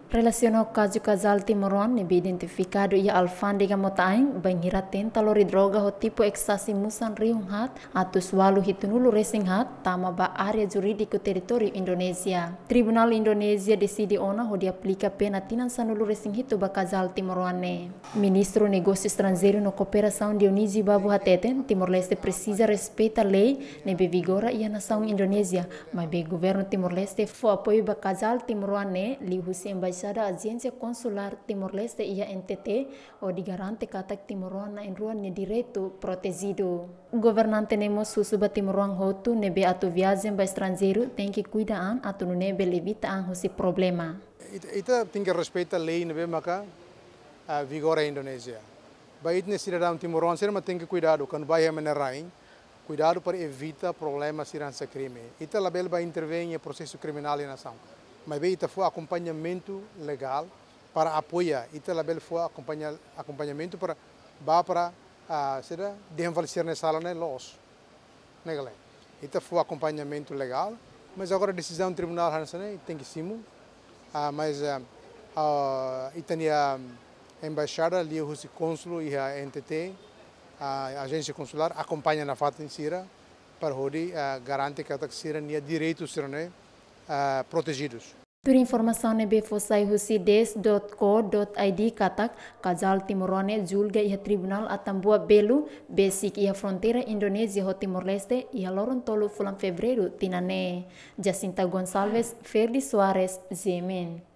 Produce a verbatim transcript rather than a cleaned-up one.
Relasiona ho kazu kazál timoroan ne'ebé identifikadu iha alfándega Mota-Ain, bainhira tenta lori droga ho tipu ekstasi musan rihun haat atus ualu hitunulu resin haat, tama ba área jurídiku territóriu Indonézia. Tribunál Indonézia deside ona hodi aplika pena tinan sanulu resin hitu ba kazál timoroan ne'e. Ministru Negósiu Estranjeiru no Kooperasaun Dionísio Babo hateten, Timor-Leste presiza respeita lei ne'ebé vigora iha nasaun Indonézia, maibé governu Timor-Leste fó apoiu ba kazál timoroan ne'e liuhusi Embaixada Ajénsia Konsulár Timor-Leste iha N T T, hodi garante katak timoroan na'in-rua nia direitu protejidu. Governante ne'e mós husu ba timoroan hotu ne'ebé atu viajen ba estranjeiru tenke kuida an atu nune'e bele evita an husi problema. Ita, ita tenke respeita lei ne'ebé maka, ah, vigora iha Indonézia. Ba ita-nia sidadaun timoroan sira mak tenke kuidadu, kuandu ba iha ema nia rain, kuidadu para evita problema sira hanesan krime. Ita labele ba intervein iha prosesu kriminál iha nasaun. Maibé ita fó akompañamentu legál para apoia, ita labele fó akompaña, akompañamentu para ba para, ah, sira dehan fali sira-nia sala ne'e loos. Ne'e ka lae. Ita fó akompañamentu legál, mas agora desizaun tribunál hanesan ne'e tenke simu. Ah, mas, ah, ah, ita-nia embaixada liuhusi kónsul iha N T T, ah, ajénsia konsulár akompaña nafatin sira para hodi, ah, garante katak sira-nia direitu sira-ne'e, ah, protejidus. Tuir informasaun ne'ebé fó sai husi des dot co dot I D katak, kazál timoroan ne'e julga iha Tribunál Atambua Belo, besik iha fronteira Indonézia ho Timor-Leste, iha loron tolu fulan Fevereiru tinan ne'e. Jacinta Gonçalves, Ferdi Soares, G M N.